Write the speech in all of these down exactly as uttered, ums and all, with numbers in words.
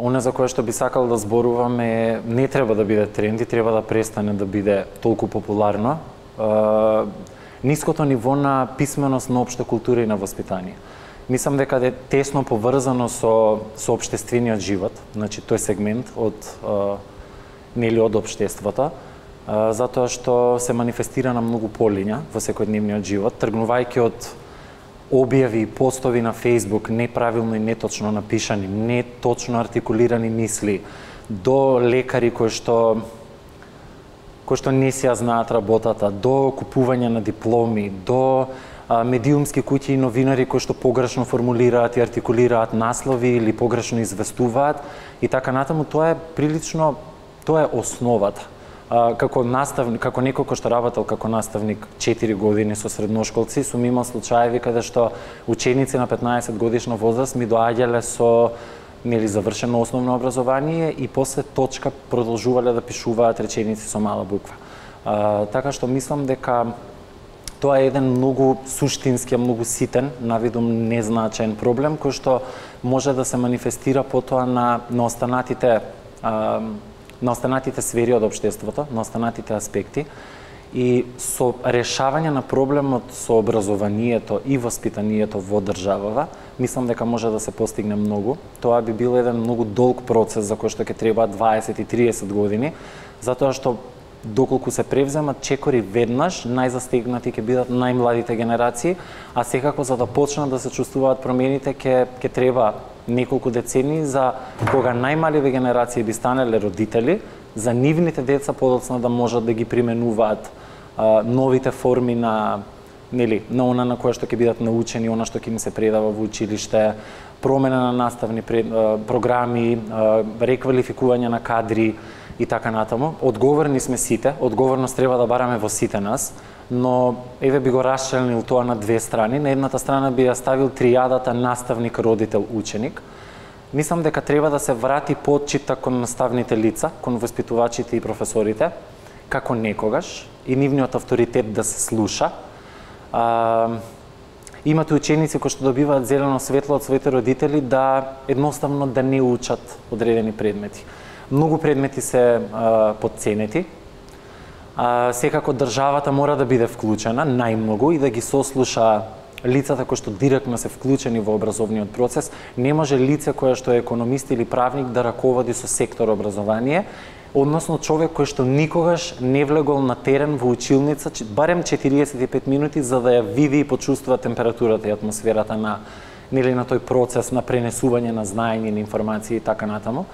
Оне за кое што би сакал да зборувам е, не треба да биде тренд и треба да престане да биде толку популарно. Uh, ниското ниво на писменост, на општа култура и на воспитание. Мислам дека е тесно поврзано со, со општествениот живот, значи тој сегмент од, uh, нели од општеството, uh, затоа што се манифестира на многу полиња во секојдневниот живот, тргнувајќи од објави и постови на Facebook, неправилно и неточно напишани, неточно артикулирани мисли, до лекари кои што кои што не си ја знаат работата, до купување на дипломи, до а, медиумски куќи и новинари кои што погрешно формулираат и артикулираат наслови или погрешно известуваат и така натаму, тоа е прилично, тоа е основата. А, како наставник, како некој кој што работел како наставник четири години со средношколци, сум имал случаеви каде што ученици на петнаесет годишна возраст ми доаѓале со нели завршено основно образование и после точка продолжувале да пишуваат реченици со мала буква. А, така што мислам дека тоа е еден многу суштински, многу ситен, навидум незначен проблем кој што може да се манифестира потоа на на останатите а, на останатите сфери од општеството, на останатите аспекти. И со решавање на проблемот со образованието и воспитанието во државава, мислам дека може да се постигне многу. Тоа би бил еден многу долг процес за кој што ќе треба дваесет и триесет години, затоа што доколку се превземат чекори веднаш, најзастигнати ќе бидат најмладите генерации, а секако за да почнат да се чувствуваат промените ќе ќе треба неколку децени за кога најмаливи генерации би станале родители, за нивните деца подоцна да можат да ги применуваат а, новите форми на нели на она на кое што ќе бидат научени, она што ќе им се предава во училиште, промена на наставни пред, а, програми, а, реквалификување на кадри и така натаму. Одговорни сме сите, одговорност треба да бараме во сите нас, но еве би го расчленил тоа на две страни. На едната страна би ја ставил тријадата наставник, родител, ученик. Мислам дека треба да се врати почита кон наставните лица, кон воспитувачите и професорите, како некогаш, и нивниот авторитет да се слуша. А, имате ученици кои што добиваат зелено светло од своите родители да едноставно да не учат одредени предмети. Многу предмети се а, подценети. А, секако државата мора да биде вклучена најмногу и да ги сослуша лицата кои што директно се вклучени во образовниот процес. Не може лице кое што е економист или правник да раководи со сектор образование, односно човек кој што никогаш не влегол на терен во училница, барем четириесет и пет минути за да ја види и почувствува температурата и атмосферата на нели на тој процес на пренесување на знаење, на информации и така натаму.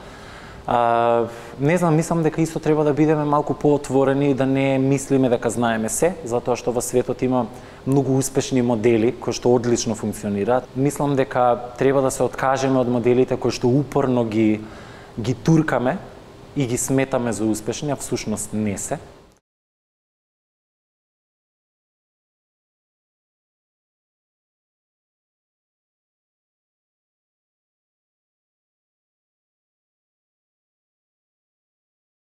А, не знам, мислам дека исто треба да бидеме малку поотворени и да не мислиме дека знаеме се, затоа што во светот има многу успешни модели кои што одлично функционираат. Мислам дека треба да се откажеме од моделите кои што упорно ги ги туркаме и ги сметаме за успешни, а всушност не се.